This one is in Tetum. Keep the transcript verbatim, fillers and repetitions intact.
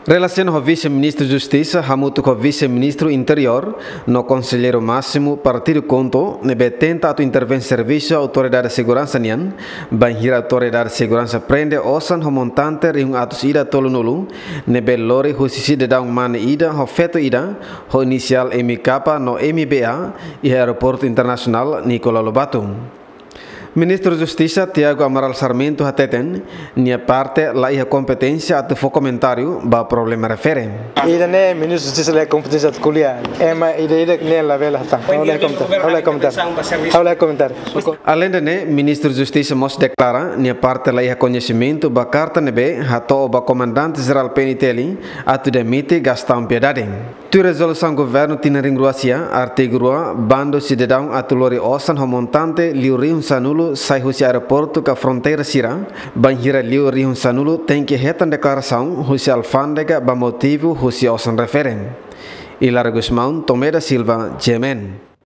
Relasiona ho Vise-Ministru Justisa hamutuk ho Vise-Ministru Interiór no Konselleiru Másimu Partidu KHUNTO ne'ebé tenta atu intervén servisu Autoridade Seguransa nian, bainhira Autoridade Seguransa prende osan ho montante rihun atus ida tolunulu ne'ebé lori husi sidadaun mane ida ho feto ida ho inisiál M K no M B A iha Aeroportu Internasionál Nicolau Lobato. Ministru Justisa Tiago Amaral Sarmento hateten, nia parte la iha kompeténsia atu fó komentáriu ba problema refere. Ida-ne'e Ministru Justisa la iha kompeténsia atu ko'alia. Ema ida-idak ne'e labele hatán. Ha'u la iha komentáriu. Ha'u la iha komentáriu. Ha'u la iha komentáriu. Aleinde ne'e, Ministru Justisa mós deklara, nia parte la iha koñesimentu ba karta ne'ebé hato'o ba Komandante Jerál P N T L atu demite Gastão Piedade. Tuir rezolusaun governu tinan rihun rua sia, artigu rua, bandu sidadaun atu lori osan ho montante liu rihun sanulu sai husi aeroportu ka fronteira sira, bainhira liu rihun sanulu tenke hetan deklarasaun husi alfándega ba motivu husi osan refere. Hilario Gusmão, Tomé da Silva, G M N.